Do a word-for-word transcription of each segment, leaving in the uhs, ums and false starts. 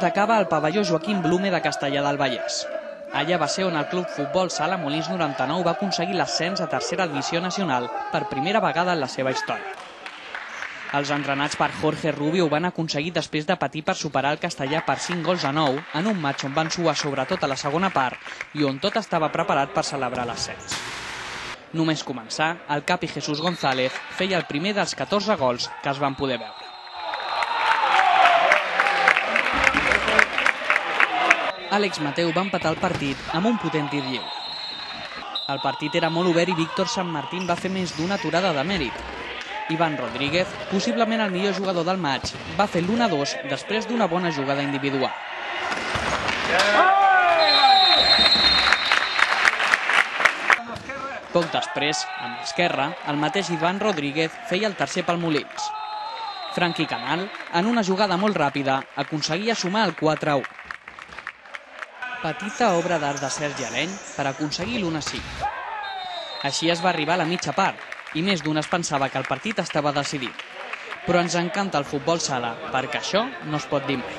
de cava al pavelló Joaquim Blume de Castellar del Vallès. Allà va ser on el Club Futbol Sala Molins noranta-nou va aconseguir l'ascens a tercera divisió nacional per primera vegada en la seva història. Els entrenats per Jorge Rubio ho van aconseguir després de patir per superar el Castellar per cinc gols a nou en un matx on van suar sobretot a la segona part i on tot estava preparat per celebrar l'ascens. Només començar, el capi Jesús González feia el primer dels catorze gols que es van poder veure. Àlex Mateu va empatar el partit amb un potent tir lliure. El partit era molt obert i Víctor Sant Martín va fer més d'una aturada de mèrit. Iván Rodríguez, possiblement el millor jugador del matx, va fer l'u a dos després d'una bona jugada individual. Poc després, amb l'esquerra, el mateix Iván Rodríguez feia el tercer pel Molins. Franqui Canal, en una jugada molt ràpida, aconseguia sumar el quatre a u. Petita obra d'art de Sergi Aleny per aconseguir l'u a cinc. Així es va arribar a la mitja part, i més d'un es pensava que el partit estava decidit. Però ens encanta el futbol sala, perquè això no es pot dir mai.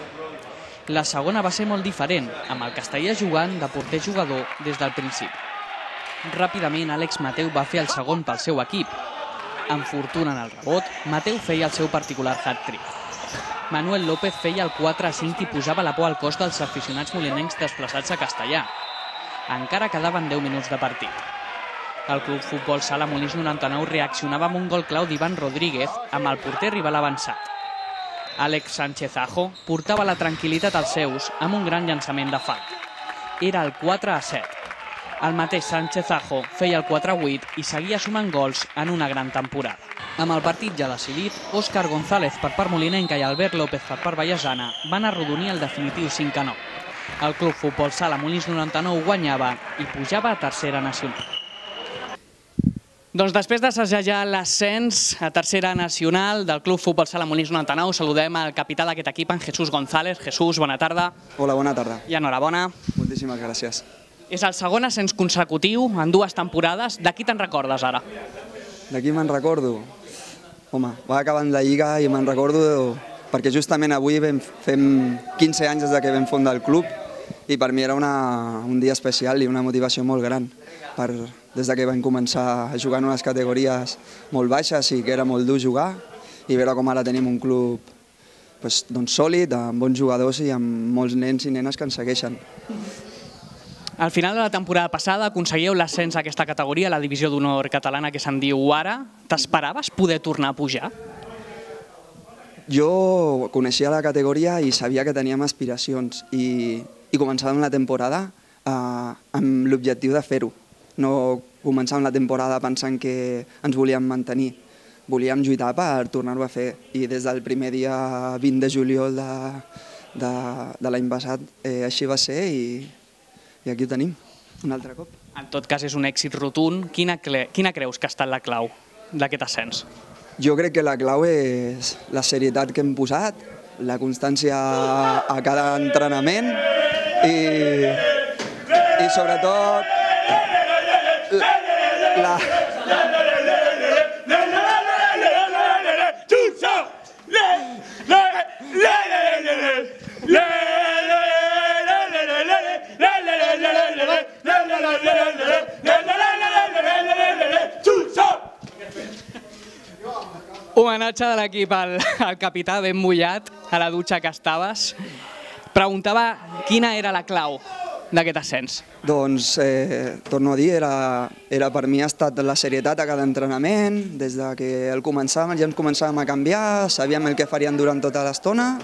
La segona va ser molt diferent, amb el Castellar jugant de porter-jugador des del principi. Ràpidament, Àlex Mateu va fer el segon pel seu equip. Amb fortuna en el rebot, Mateu feia el seu particular hat-trick. Manuel López feia el quatre a cinc i posava la por al cos dels aficionats molinencs desplaçats a Castellar. Encara quedaven deu minuts de partit. El Club Futbol Sala Molins noranta-nou reaccionava amb un gol clau d'Iván Rodríguez amb el porter rival avançat. Àlex Sánchez Ajo portava la tranquil·litat als seus amb un gran llançament de falta. Era el quatre a set. El mateix Sánchez Ajo feia el quatre a vuit i seguia sumant gols en una gran temporada. Amb el partit ja decidit, Òscar González per part molinenca i Albert López per part vallesana van arrodonir el definitiu cinc a nou. El Club Futbol Sala Molins noranta-nou guanyava i pujava a tercera nacional. Doncs després d'assajar l'ascens a tercera nacional del Club Futbol Sala Molins noranta-nou, saludem al capità d'aquest equip, en Jesús González. Jesús, bona tarda. Hola, bona tarda. I enhorabona. Moltíssimes gràcies. És el segon ascens consecutiu en dues temporades. De qui te'n recordes ara? De qui me'n recordo? Home, va acabant la Lliga i me'n recordo perquè justament avui fem quinze anys des que vam fundar el club i per mi era una, un dia especial i una motivació molt gran. Per, des que vam començar a jugar en unes categories molt baixes i que era molt dur jugar i veure com ara tenim un club pues, doncs, sòlid, amb bons jugadors i amb molts nens i nenes que ens segueixen. Al final de la temporada passada aconseguíeu l'ascens a aquesta categoria, la divisió d'honor catalana que se'n diu ara. T'esperaves poder tornar a pujar? Jo coneixia la categoria i sabia que teníem aspiracions i, i començàvem la temporada eh, amb l'objectiu de fer-ho. No començàvem la temporada pensant que ens volíem mantenir. Volíem lluitar per tornar-ho a fer i des del primer dia vint de juliol de, de, de l'any passat eh, així va ser i I aquí ho tenim, un altre cop. En tot cas, és un èxit rotund. Quina, quina creus que ha estat la clau d'aquest ascens? Jo crec que la clau és la serietat que hem posat, la constància a cada entrenament i, i sobretot la... Homenatge de l'equip al, al capità ben mullat a la dutxa que estaves. Preguntava quina era la clau d'aquest ascens. Doncs, eh, torno a dir, era, era per mi ha estat la serietat a cada entrenament. Des de que el començàvem, ja ens començàvem a canviar, sabíem el que farien durant tota l'estona,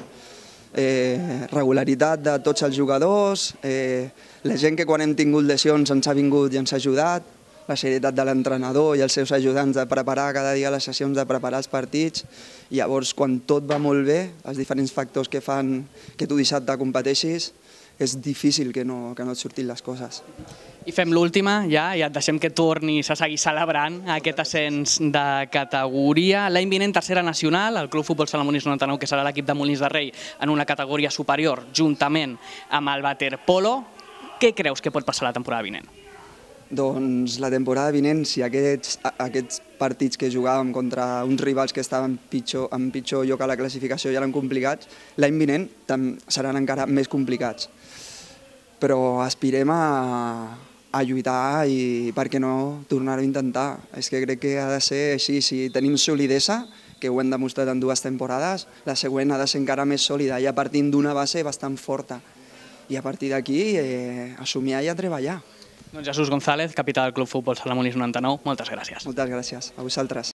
eh, regularitat de tots els jugadors, eh, la gent que quan hem tingut lesions ens ha vingut i ens ha ajudat, la serietat de l'entrenador i els seus ajudants de preparar cada dia les sessions, de preparar els partits. I llavors, quan tot va molt bé, els diferents factors que fan que tu dissabte competeixis, és difícil que no, que no et surtin les coses. I fem l'última, ja, i et deixem que tornis a seguir celebrant aquest ascens de categoria. L'any vinent, tercera nacional, el Club Futbol Sala Molins noranta-nou, que serà l'equip de Molins de Rei en una categoria superior, juntament amb el waterpolo. Què creus que pot passar la temporada vinent? Doncs la temporada vinent, si aquests, aquests partits que jugàvem contra uns rivals que estaven pitjor, en pitjor lloc a la classificació ja eren complicats, l'any vinent seran encara més complicats. Però aspirem a, a lluitar i, per què no, tornar-ho a intentar. És que crec que ha de ser així. Si tenim solidesa, que ho hem demostrat en dues temporades, la següent ha de ser encara més sòlida, ja partint d'una base bastant forta. I a partir d'aquí, eh, a somiar i a treballar. Doncs Jesús González, capità del Club Futbol Sala Molins noranta-nou, moltes gràcies. Moltes gràcies. A vosaltres.